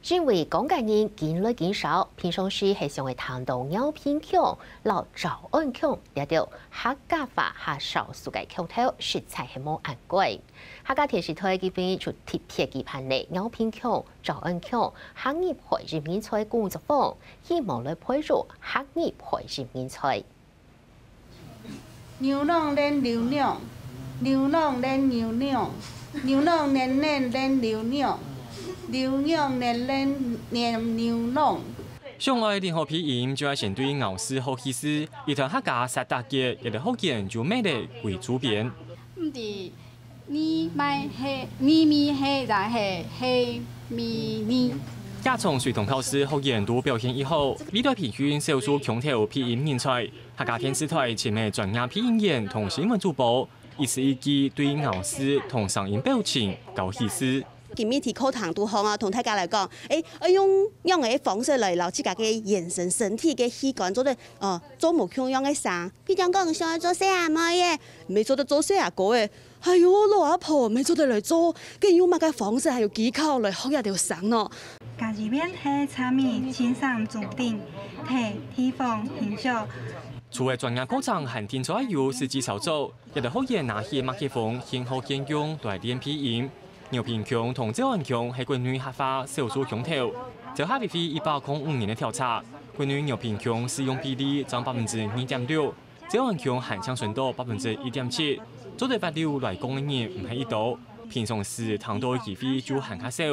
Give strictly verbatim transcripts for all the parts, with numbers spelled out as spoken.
因為講个人緊來緊少，平常時係想愛聽到饒平腔摎詔安腔這兜客家話較少數个腔調，實在係無恁該。客家電視台今晡日就特別舉辦了饒平腔、詔安腔客語配音人才工作坊，希望來培育客語配音人才。 牛郎戀牛娘，牛郎戀牛娘，牛郎戀戀戀牛娘，牛娘戀戀戀牛郎。想愛練好鼻音，就愛先對咬字學起始。一段客家煞打結，這兜學員就每日為主編。毋知 你買係，你咪係，也係係咪你？這場隨堂考試學員都表現異好，歷代評選少數腔調鼻音人才，客家電視台尋个專業鼻音員同新聞主播，一字一句對咬字同聲音表情教起始。今晡日在課堂肚項啊，同大家來講，誒，愛用仰仔个方式來摎自家个眼神、身體个器官做得，呃，做無共樣个聲。比如講，想愛做細阿妹耶，毋係做得做細阿哥耶。 哎喲，老阿婆，毋係做得來做，該用麼个方式還有技巧來學這兜聲呢？甲子園係茶米青山竹頂，係地方形象。除了專業課程，還定著愛有實際操作，這兜學員拿起麥克風，現學現用來練鼻音。饒平腔同詔安腔係國內客話少數腔調。照客委會一百空五年个調查，國內饒平腔使用比例佔百分之二點六， 詔安腔還淨伸到百分之一點七，做得斡溜來講个人毋係異多，平常時聽到个機會就還較少。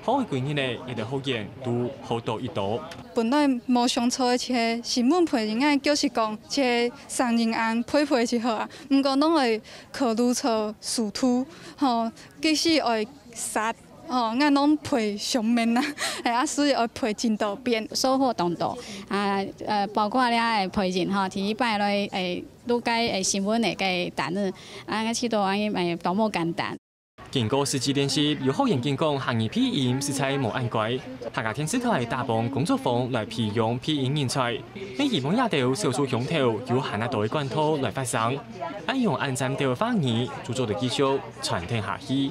好幾日了，這兜學員都學到異多。本來無想著个，一个新聞配音員，就是講一个聲音恁配配就好啊。毋過攏會考慮著速度，吼，即使愛煞 哦，𠊎攏配上面啊，哎，啊，所以愛配真多遍。收穫當多啊，呃，包括了个配音吼，第一擺來，哎，錄个，哎，新聞个个單子，啊，𠊎試著，哎，哎，多麼簡單。經過實際練習，有學員見講客語鼻音實在無恁該。客家電視台打幫工作坊來培養鼻音人才，也希望這兜少數腔調有還較多个管道來發聲，恁樣恁尖兜个話語就做得繼續傳承下去。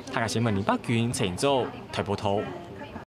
客家新聞林伯君、陳昭，大埔頭。